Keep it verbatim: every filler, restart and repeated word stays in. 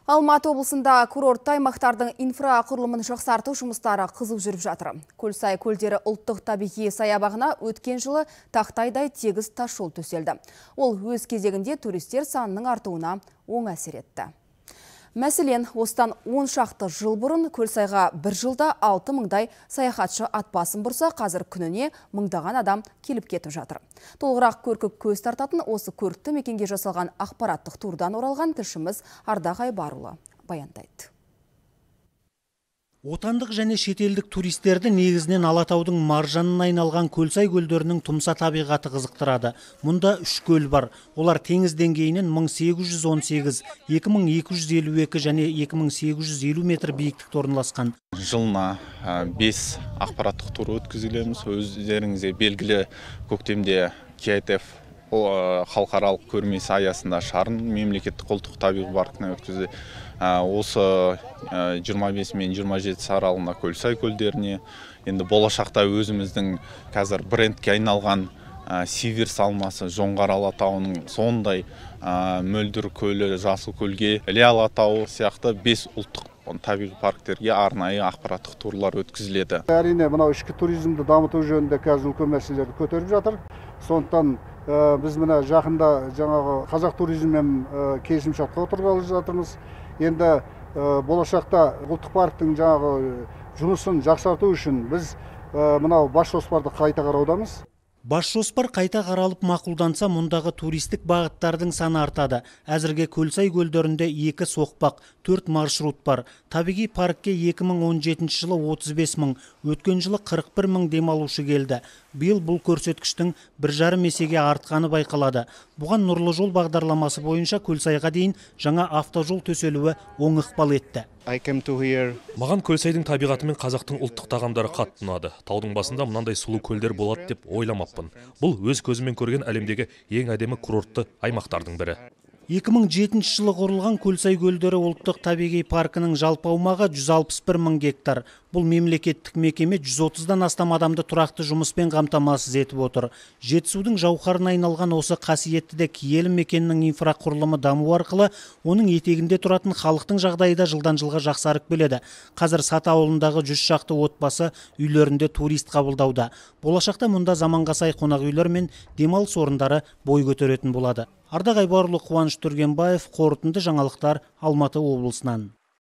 Алматы облысында курортты аймақтардың инфрақұрылымын жақсарту жұмыстары қызу жүріп жатыр. Көлсай көлдері ұлттық табиғи саябағына өткен жылы тақтайдай тегіс тас жол төселді. Ол өз кезегінде туристер санының артуына оң әсер етті. Мәселен, осыдан он шақты жыл бұрын Көлсайға бір жылда алты мыңдай саяхатшы ат басын бұрса, қазір күніне мыңдаған адам келіп кетіп жатыр. Толығырақ көркі көз тартатын осы көрікті мекенге жасалған ақпараттық турдан оралған тілшіміз Ардақ Айбарұлы баяндайды. Отандық және шетелдік туристерді негізінен Алатаудың маржанына айналған Көлсай көлдерінің тұмса табиғаты қызықтырады. Мұнда үш көл бар. Олар теңіз деңгейінен мың сегіз жүз он сегіз, екі мың екі жүз елу екі және екі мың сегіз жүз елу метр биіктікте орналасқан. Жылына бес ақпараттық тур өткізілеміз. Өздеріңізге белгілі көктемде кей ай ти эф халықаралық көрмесі аясында Шарын мемлекеттік ұлттық табиғи паркіне өткізді. Осы жиырма бес мен жиырма жеті аралығында Көлсай көлдеріне, енді болашақта өзіміздің қазір брендке айналған Сиверс алмасы, Жоңғар Алатауының сондай мөлдір көлі, Жасыл көлге, Іле Алатауы сияқты бес ұлттық табиғи парктерге арнайы ақпараттық турлар өткізіледі. Әрине, мынау ішкі туризмді дамыту жөнінде қазір үлкен мәселелерді көтеріп жатыр. Сондықтан біз мына жақында жаңағы қазақ туризммен келісімшартқа отырғалы жатырмыз. Енді болашақта ұлттық парктің жаңағы жұмысын жақсарту үшін біз мынау бас жоспарды қайта қараудамыз. Бас жоспар қайта қаралып мақұлданса, мұндағы туристік бағыттардың саны артады. Әзірге Көлсай көлдерінде екі соқпақ, төрт маршрут бар. Табиғи паркке екі мың он жетінші жылы отыз бес мың, өткен жылы қырық бір мың демалушы келді. Биыл бұл көрсеткіштің бір жарым есеге артқаны байқалады. Бұған Нұрлы жол бағдарламасы бойынша Көлсайға дейін жаңа автожол төселуі оң ықпал етті. Маған Көлсайдың табиғаты мен қазақтың ұлттық тағамдары қатты ұнады. Таудың басында мынандай сұлу көлдер болады деп ойламаппын. Бұл өз көзімен көрген әлемдегі ең әдемі курортты аймақтардың бірі. екі мың жетінші жылы құрылған Көлсай көлдері ұлттық табиғи паркінің жалпы аумағы жүз алпыс бір мың гектар. Бұл мемлекеттік мекеме жүз отыздан астам адамды тұрақты жұмыспен қамтамасыз етіп отыр. Жетісудың жауһарына айналған осы қасиетті де киелі мекеннің инфрақұрылымы даму арқылы оның етегінде тұратын халықтың жағдайы да жылдан жылға жақсарып келеді. Қазір Саты ауылындағы жүз шақты отбасы үйлерінде турист қабылдауда. Болашақта мұнда заманға сай қонақ үйлер мен демалыс орындары бой көтеретін болады. Ардақ Айбарұлы, Қуаныш Түргенбаев, қорытынды жаңалықтар, Алматы облысынан.